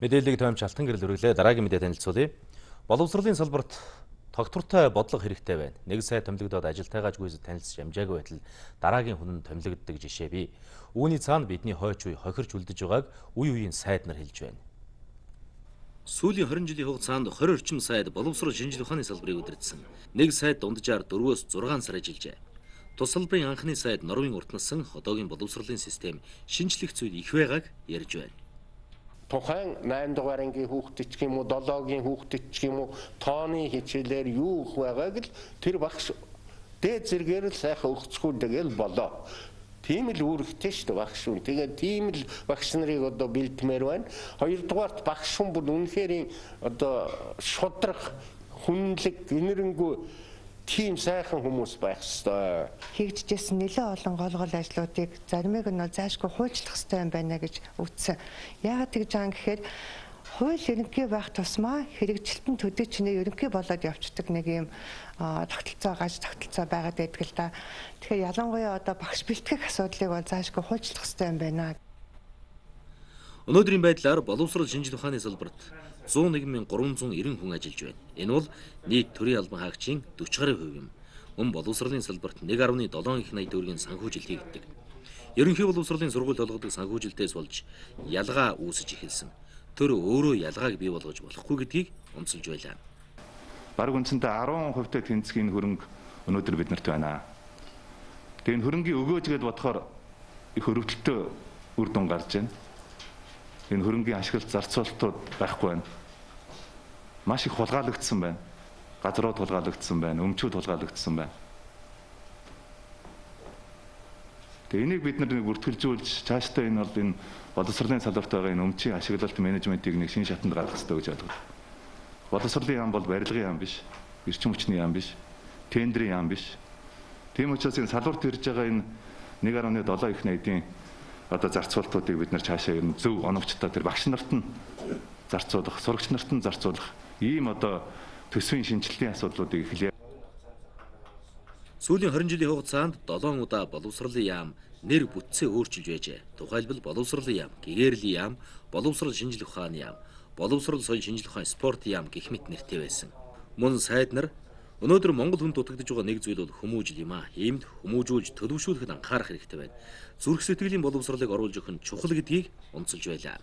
Мэдээллийг томьёо Алтан гэрэл өргөлөө дараагийн мэдээ танилцуулъя. Боловсролын салбарт тогтвортой бодлого хэрэгтэй байна. Нэг сая томилогдоод ажилтайгааж гүйцэд танилцж амжаагүй байтал дараагийн хүн нь томилогддог жишээ бий. Үүний цаана бидний хойч үе хохирч үлдэж байгааг үе үеийн сайд нар хэлж байна. Сүүлийн 20 жилийн хугацаанд 20 орчим сайд боловсрол шинжлэх ухааны салбарыг удирдсан. Нэг сайд дунджаар 4-өөс 6 сар ажиллажээ. Тус салбарын анхны сайд Норвегийн урт насан одоогийн боловсролын систем шинжлэх зүйл их байгааг ярьж байна. Тухайн 8 дугаар ангийн хүүхдэд ч юм уу 7-гийн хүүхдэд ч юм уу тооны хичээлээр юу их байгааг л тэр багш дээд зэргээр л сайхан өгцгүүлдэг л болоо. Тийм л үүрэгтэй шүү дээ багш хүн. Тэгээд тийм л багш нарыг одоо бэлдмээр байна. Хоёрдугаарт багш хүн бүр үнэхээр одоо шудрах, хүнлэг, гэнэрэнгүй тийм сайхан хүмүүс байх ёстой. Хийгдчихсэн нэлээд олон гол ажлуудыг заримыг нь заашгүй хуульчлах хэрэгтэй юм байна гэж үзсэн. Яагаад тэгж байгаа юм гэхээр хууль ерөнхий байх тусмаа хэрэгжилтэн төдий чинээ ерөнхий болоод явцдаг нэг юм тогтолцоо байгаад байдаг л да. Тэгэхээр ялангуяа одоо багш бэлтгэх асуудлыг бол заашгүй хуульчлах хэрэгтэй юм байна. Өнөөдрийн байдлаар боловсрол шинжлэх ухааны салбарт 101,390 хүн ажиллаж байна. Энэ бол нийт төрийн албан хаагчийн 40% юм. Мөн боловсролын салбарт 1.7 их найт төгрөгийн санхүүжилт хийгддэг. Ерөнхий боловсролын сургууль болгодог санхүүжилтээс болж ялгаа үүсэж эхэлсэн. Тэр өөрөө ялгааг бий болгож болохгүй гэдгийг онцолж байлаа. Бараг үндсэндээ 10% тэнцгийн хөрөнгө өнөөдөр биднэрт байна. Тэгээд хөрөнгийн өгөөж гэдээ бодохоор их өрөвдөлтөй үр дүн гарч байна. Энэ хөрөнгийн ашиглалт зарцуулалтууд байхгүй байна. Маш их хулгайлагдсан байна. Газрууд хулгайлагдсан байна, өмчүүд хулгайлагдсан байна. Тэгээ энийг бид нэг бүртгэлжүүлж цаашдаа энэ бол энэ боловсролын салбарт байгаа энэ өмчийн ашиглалт менежментийг нэг шинэ шатанд гаргах хэрэгтэй гэж ойлгож байна. Боловсролын яам бол барилгын яам биш, эрчим хүчний яам биш, тендерийн яам биш. Тийм учраас энэ салбарт ирж байгаа энэ 1.7 их найдын одоо зарцуулалтуудыг бид нар цаашаа ер нь зөв оновчтой тэр багш нарт нь зарцуулах, сурагч нарт нь зарцуулах ийм одоо төсвийн шинжилгээний асуудлуудыг эхлэе. Сүүлийн 20 жилийн хугацаанд 7 удаа боловсролын яам нэр бүтцээ өөрчилж байжээ. Тухайлбал боловсролын яам, гэгэрлийн яам, боловсрол шинжлэх ухааны яам, боловсрол соёл шинжлэх ухааны спорт яам гэх мэт нэртэй байсан. Мөн сайд нар өнөөдөр Монгол хүнд дутагдж байгаа нэг зүйл бол хүмүүжил юм а. Иймд хүмүүжүүлж төлөвшүүлэхэд анхаарах хэрэгтэй байна. Зүрх сэтгэлийн боловсролыг оруулж өгөх нь чухал гэдгийг онцолж байлаа.